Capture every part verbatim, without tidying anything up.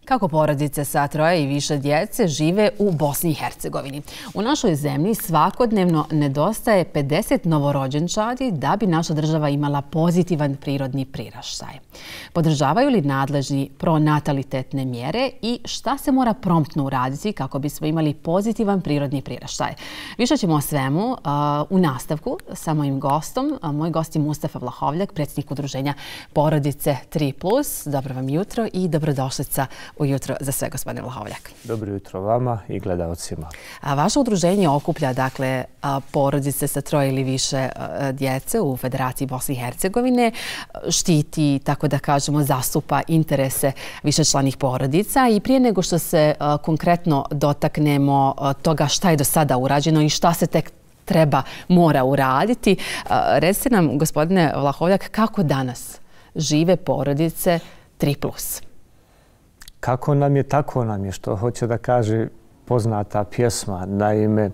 Kako porodice sa troje i više djece žive u Bosni i Hercegovini. U našoj zemlji svakodnevno nedostaje pedeset novorođenčadi da bi naša država imala pozitivan prirodni priraštaj. Podržavaju li nadležni pronatalitetne mjere i šta se mora promptno uraditi kako bismo imali pozitivan prirodni priraštaj? Više ćemo o svemu uh, u nastavku sa mojim gostom. Uh, moj gost je Mustafa Vlahovljak, predsjednik udruženja Porodice tri plus. Dobro vam jutro i dobrodošlica ujutro za sve, gospodine Vlahovljak. Dobro jutro vama i gledalcima. A vaše udruženje okuplja dakle porodice sa troje ili više djece u Federaciji Bosne i Hercegovine, štiti, tako da kažemo, zastupa interese višečlanih porodica i prije nego što se konkretno dotaknemo toga šta je do sada urađeno i šta se tek treba, mora uraditi, recite nam, gospodine Vlahovljak, kako danas žive porodice tri plus? Kako nam je, tako nam je, što hoće da kaže poznata pjesma. Naime,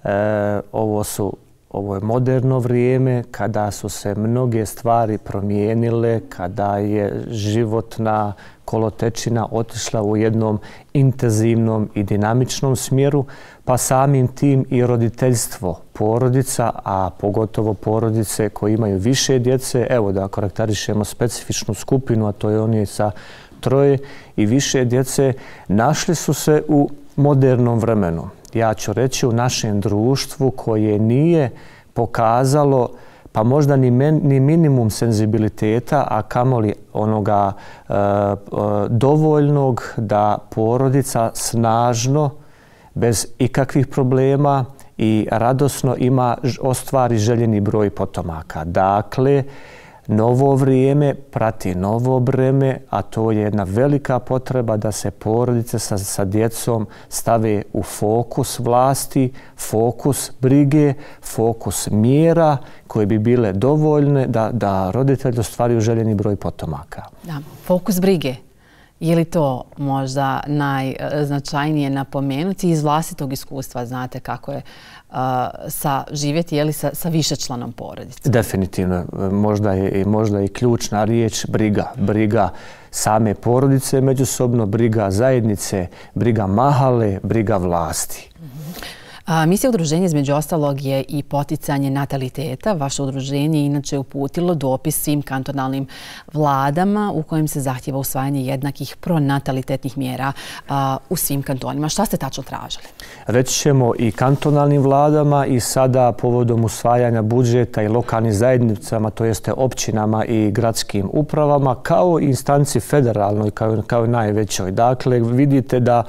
e, ovo, su, ovo je moderno vrijeme kada su se mnoge stvari promijenile, kada je životna kolotečina otišla u jednom intenzivnom i dinamičnom smjeru, pa samim tim i roditeljstvo porodica, a pogotovo porodice koji imaju više djece. Evo da karakterišemo specifičnu skupinu, a to je oni sa troje i više djece, našli su se u modernom vremenu. Ja ću reći u našem društvu koje nije pokazalo pa možda ni, men, ni minimum senzibiliteta, a kamoli onoga e, e, dovoljnog da porodica snažno, bez ikakvih problema i radosno ima ostvari željeni broj potomaka. Dakle, novo vrijeme prati novo breme, a to je jedna velika potreba da se porodice sa, sa djecom stave u fokus vlasti, fokus brige, fokus mjera koje bi bile dovoljne da, da roditelji ostvaruju željeni broj potomaka. Da, fokus brige. Je li to možda najznačajnije napomenuti iz vlastitog iskustva? Znate kako je uh, sa živjeti je li sa, sa višečlanom porodicom? Definitivno. Možda je, možda je i ključna riječ briga. Briga same porodice međusobno, briga zajednice, briga mahale, briga vlasti. Misija udruženja između ostalog je i poticanje nataliteta. Vaše udruženje je inače uputilo dopis svim kantonalnim vladama u kojem se zahtjeva usvajanje jednakih pronatalitetnih mjera u svim kantonima. Šta ste tačno tražili? Reći ćemo i kantonalnim vladama i sada povodom usvajanja budžeta i lokalnim zajednicama, to jeste općinama i gradskim upravama, kao i instanci federalnoj, kao, kao najvećoj. Dakle, vidite da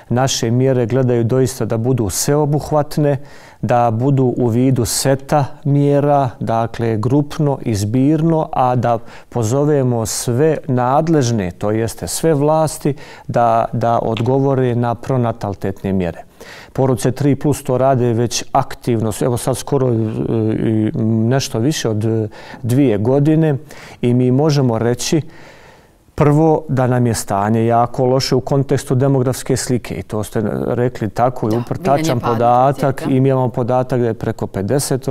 naše mjere gledaju doista da budu sveobuhvatne, da budu u vidu seta mjera, dakle grupno i zbirno, a da pozovemo sve nadležne, to jeste sve vlasti, da, da odgovore na pronatalitetne mjere. Porodice tri plus to rade već aktivno, evo sad skoro nešto više od dvije godine i mi možemo reći prvo, da nam je stanje jako loše u kontekstu demografske slike i to ste rekli tako i uprtačan podatak i mi imamo podatak da je preko pedeset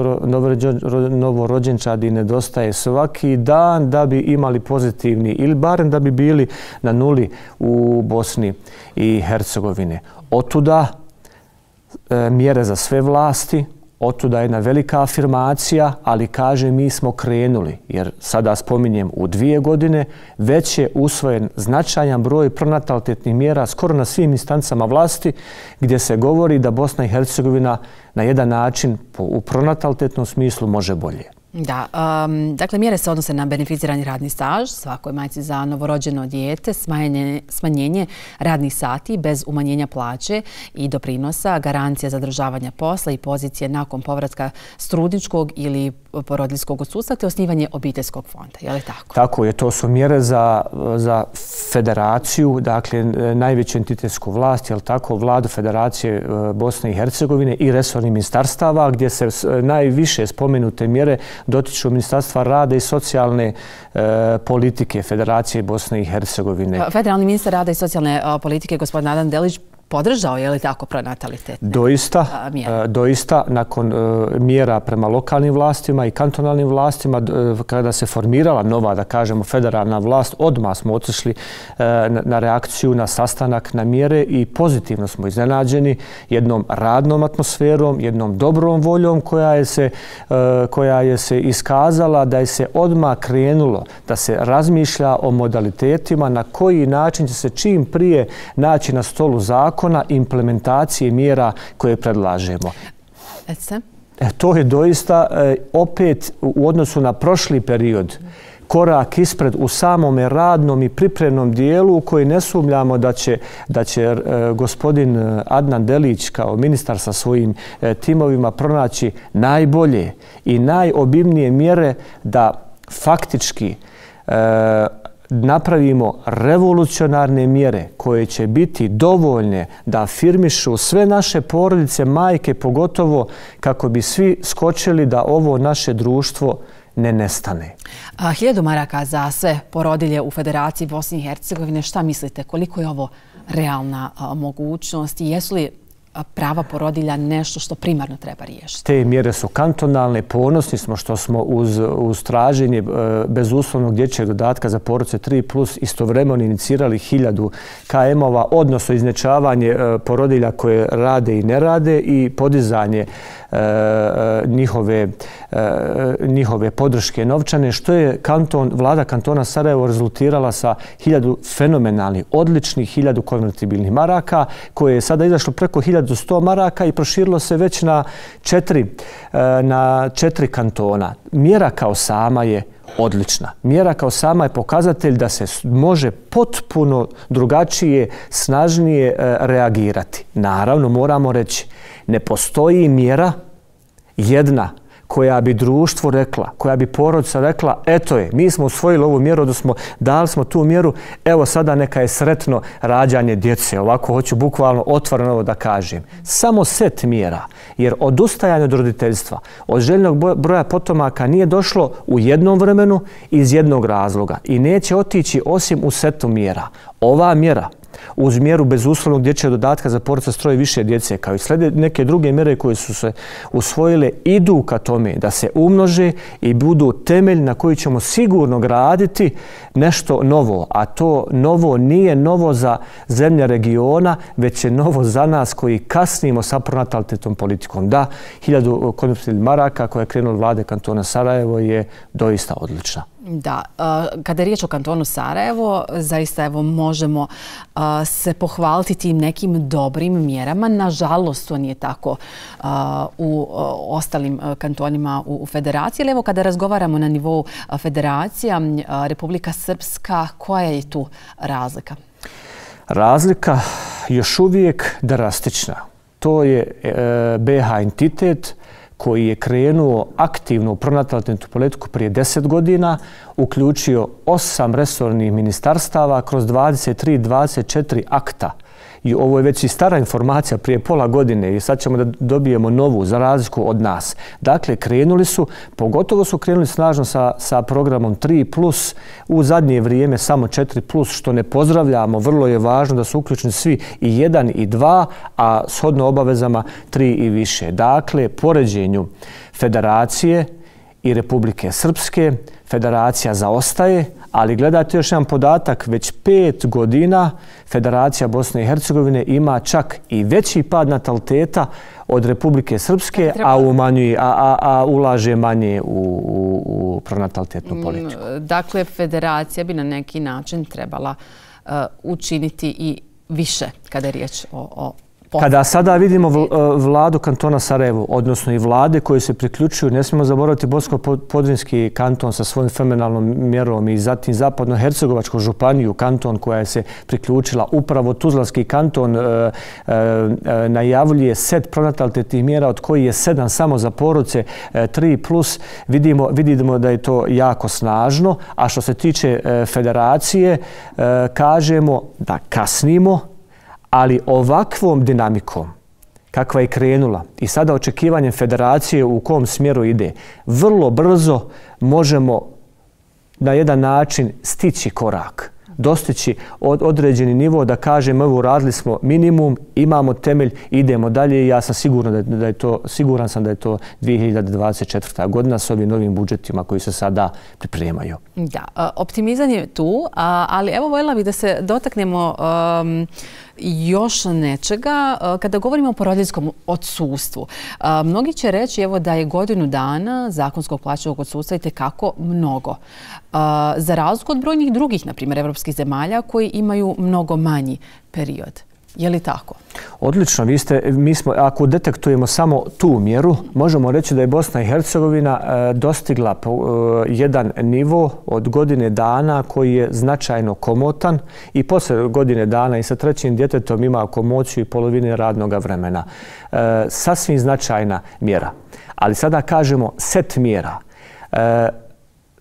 novorođenčadi nedostaje svaki dan da bi imali pozitivni ili barem da bi bili na nuli u Bosni i Hercegovine. Otuda e, mjere za sve vlasti, otuda jedna velika afirmacija, ali kaže mi smo krenuli, jer sada spominjem u dvije godine, već je usvojen značajan broj pronatalitetnih mjera skoro na svim instancama vlasti, gdje se govori da Bosna i Hercegovina na jedan način u pronatalitetnom smislu može bolje. Da, um, dakle, mjere se odnose na beneficirani radni staž, svakoj majci za novorođeno dijete, smanjenje, smanjenje radnih sati bez umanjenja plaće i doprinosa, garancija zadržavanja posla i pozicije nakon povratka s trudničkog ili porodiljskog odsustva, te osnivanje obiteljskog fonda. Je li tako? Tako je, to su mjere za, za federaciju, dakle, najveću entitetsku vlast, je li tako, vladu Federacije Bosne i Hercegovine i resornih ministarstava, gdje se najviše spomenute mjere dotiču Ministarstva rada i socijalne e, politike Federacije Bosne i Hercegovine. Federalni ministar rada i socijalne politike, gospodin Nadan Delić, podržao, je li tako, pronatalitetne doista, mjere? Doista, nakon mjera prema lokalnim vlastima i kantonalnim vlastima, kada se formirala nova, da kažemo, federalna vlast, odmah smo otišli na reakciju, na sastanak, na mjere i pozitivno smo iznenađeni jednom radnom atmosferom, jednom dobrom voljom koja je se, koja je se iskazala da je se odmah krenulo da se razmišlja o modalitetima na koji način će se čim prije naći na stolu zakona implementacije mjera koje predlažemo. E, to je doista e, opet u odnosu na prošli period korak ispred u samome radnom i pripremnom dijelu u koji ne sumnjamo da će, da će e, gospodin Adnan Delić kao ministar sa svojim e, timovima pronaći najbolje i najobimnije mjere da faktički e, napravimo revolucionarne mjere koje će biti dovoljne da afirmišu sve naše porodice, majke pogotovo, kako bi svi skočili da ovo naše društvo ne nestane. A, hiljadu maraka za sve porodilje u Federaciji Bosne i Hercegovine. Šta mislite? Koliko je ovo realna a, mogućnost i jesu li prava porodilja nešto što primarno treba riješiti? Te mjere su kantonalne. Ponosni smo što smo uz, uz traženje bezuslovnog dječjeg dodatka za porodice tri plus istovremeno inicirali hiljadu ka emova, odnosno iznečavanje porodilja koje rade i ne rade i podizanje njihove, njihove podrške novčane, što je kanton, vlada kantona Sarajevo rezultirala sa hiljadu fenomenalnih, odličnih hiljadu konvertibilnih maraka, koje je sada izašlo preko hiljadu sto maraka i proširilo se već na četiri, na četiri kantona. Mjera kao sama je odlična. Mjera kao sama je pokazatelj da se može potpuno drugačije, snažnije reagirati. Naravno, moramo reći, ne postoji mjera jedna koja bi društvo rekla, koja bi porodica rekla, eto je, mi smo usvojili ovu mjeru, da smo dali smo tu mjeru, evo sada neka je sretno rađanje djece. Ovako hoću bukvalno otvoreno ovo da kažem. Samo set mjera, jer odustajanje od roditeljstva, od željnog broja potomaka nije došlo u jednom vremenu iz jednog razloga i neće otići osim u setu mjera. Ova mjera, uz mjeru bezuslovnog dječjeg dodatka za porodice s troje više djece, kao i slijede neke druge mjere koje su se usvojile, idu ka tome da se umnože i budu temelj na koji ćemo sigurno graditi nešto novo. A to novo nije novo za zemlje regiona, već je novo za nas koji kasnimo sa pronatalitetnom politikom. Da, hiljadu konvertibilnih maraka koja je krenula vlade kantona Sarajevo je doista odlična. Da, kada je riječ o kantonu Sarajevo, zaista evo možemo se pohvaliti tim nekim dobrim mjerama. Nažalost, to nije tako u ostalim kantonima u federaciji. Ali evo kada razgovaramo na nivou federacija, Republika Srpska, koja je tu razlika? Razlika još uvijek drastična. To je be ha entitet koji je krenuo aktivno u pronatalitetnu politiku prije deset godina, uključio osam resornih ministarstava kroz dvadeset tri dvadeset četiri akta. I ovo je već i stara informacija prije pola godine i sad ćemo da dobijemo novu za razliku od nas. Dakle, krenuli su, pogotovo su krenuli snažno sa, sa programom tri plus, u zadnje vrijeme samo četiri plus, što ne pozdravljamo. Vrlo je važno da su uključeni svi i jedan i dva, a shodno obavezama tri i više. Dakle, poređenju Federacije i Republike Srpske, Federacija zaostaje, ali gledajte još jedan podatak, već pet godina Federacija Bosne i Hercegovine ima čak i veći pad nataliteta od Republike Srpske, a, umanjuje, a, a, a ulaže manje u, u, u pronatalitetnu politiku. Dakle, Federacija bi na neki način trebala uh, učiniti i više kada je riječ o, o Kada sada vidimo vladu kantona Sarajevo, odnosno i vlade koje se priključuju, ne smijemo zaboraviti Bosansko-Podrinjski kanton sa svojim fenomenalnom mjerom i zatim Zapadno-Hercegovačku županiju, kanton koja se priključila, upravo Tuzlanski kanton e, e, najavljuje set pronatalitetnih mjera od koji je sedam samo za porodice e, tri plus. Vidimo, vidimo da je to jako snažno, a što se tiče e, federacije, e, kažemo da kasnimo, ali ovakvom dinamikom kakva je krenula i sada očekivanjem federacije u kom smjeru ide, vrlo brzo možemo na jedan način stići korak dostići određeni nivo da kažemo evo uradili smo minimum, imamo temelj, idemo dalje i ja sam siguran da je to, siguran sam da je to dvije hiljade dvadeset četvrta godina s ovim novim budžetima koji se sada pripremaju. Da, optimizam je tu, ali evo voljela bih da se dotaknemo um, još nečega. Kada govorimo o porodiljskom odsustvu, mnogi će reći evo da je godinu dana zakonskog plaćenog odsustva i tekako mnogo. Za razliku od brojnih drugih, na primjer, evropskih zemalja koji imaju mnogo manji period. Je li tako? Odlično. Vi ste, mi smo, ako detektujemo samo tu mjeru, možemo reći da je Bosna i Hercegovina dostigla jedan nivo od godine dana koji je značajno komotan i posle godine dana i sa trećim djetetom ima komociju i polovine radnog vremena. Sasvim značajna mjera. Ali sada kažemo set mjera.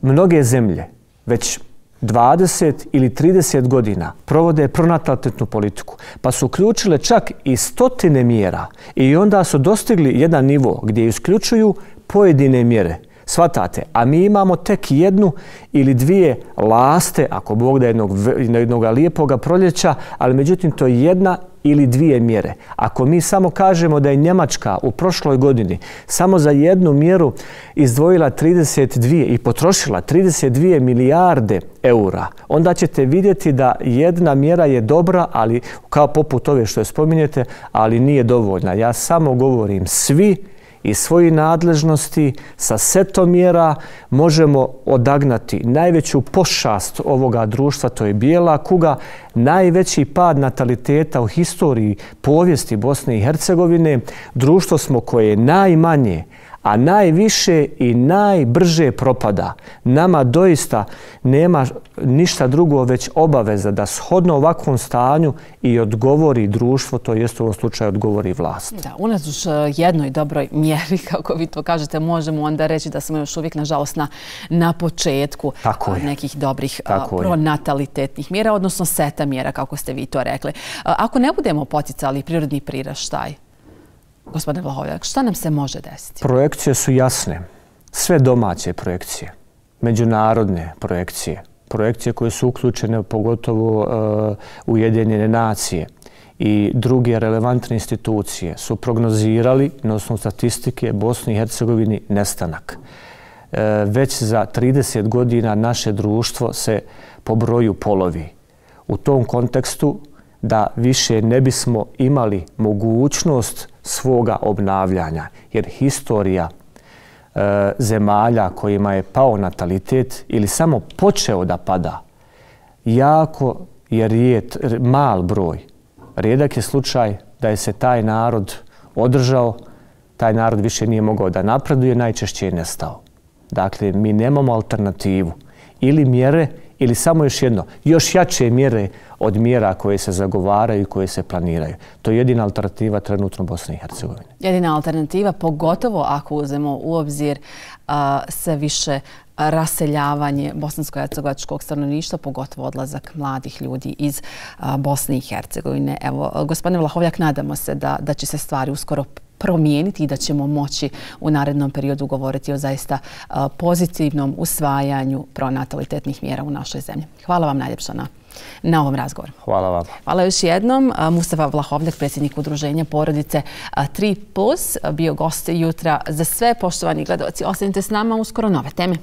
Mnoge zemlje već dvadeset ili trideset godina provode pronatalitetnu politiku, pa su uključile čak i stotine mjera i onda su dostigli jedan nivo gdje isključuju pojedine mjere. Svatate, a mi imamo tek jednu ili dvije laste, ako Bog da jednog, jednog lijepoga proljeća, ali međutim to je jedna ili dvije mjere. Ako mi samo kažemo da je Njemačka u prošloj godini samo za jednu mjeru izdvojila trideset dvije i potrošila trideset dvije milijarde eura, onda ćete vidjeti da jedna mjera je dobra, ali kao poput ove što je spominjete, ali nije dovoljna. Ja samo govorim svi iz svojih nadležnosti sa setom mjera možemo odagnati najveću pošast ovoga društva, to je bijela kuga, najveći pad nataliteta u historiji povijesti Bosne i Hercegovine. Društvo smo koje najmanje, a najviše i najbrže propada. Nama doista nema ništa drugo već obaveza da shodno ovakvom stanju i odgovori društvo, to jest u ovom slučaju odgovori vlast. Da, unatoč jednoj dobroj mjeri, kako vi to kažete, možemo onda reći da smo još uvijek, nažalost, na, na početku nekih dobrih pronatalitetnih mjera, odnosno seta mjera, kako ste vi to rekli. Ako ne budemo poticali prirodni priraštaj, gospodine Vlahovljak, šta nam se može desiti? Projekcije su jasne. Sve domaće projekcije, međunarodne projekcije, projekcije koje su uključene pogotovo uh, Ujedinjene nacije i druge relevantne institucije su prognozirali na osnovu statistike Bosni i Hercegovini nestanak. Uh, već za trideset godina naše društvo se po broju polovi. U tom kontekstu da više ne bismo imali mogućnost svoga obnavljanja, jer historija e, zemalja kojima je pao natalitet ili samo počeo da pada, jako je rijet, mal broj. Rijedak je slučaj da je se taj narod održao, taj narod više nije mogao da napreduje, najčešće je nestao. Dakle, mi nemamo alternativu. Ili mjere, ili samo još jedno, još jače mjere od mjera koje se zagovaraju i koje se planiraju. To je jedina alternativa trenutno Bosne i Hercegovine. Jedina alternativa, pogotovo ako uzmemo u obzir uh, sve više raseljavanje bosansko-hercegovačkog stanovništva, pogotovo odlazak mladih ljudi iz uh, Bosne i Hercegovine. Evo, gospodine Vlahovljak, nadamo se da, da će se stvari uskoro promijeniti i da ćemo moći u narednom periodu govoriti o zaista pozitivnom usvajanju pronatalitetnih mjera u našoj zemlji. Hvala vam najljepša na, na ovom razgovoru. Hvala vam. Hvala još jednom. Mustafa Vlahovljak, predsjednik udruženja Porodice tri plus, bio gost jutra za sve. Poštovani gledalci, ostanite s nama, uskoro nove teme.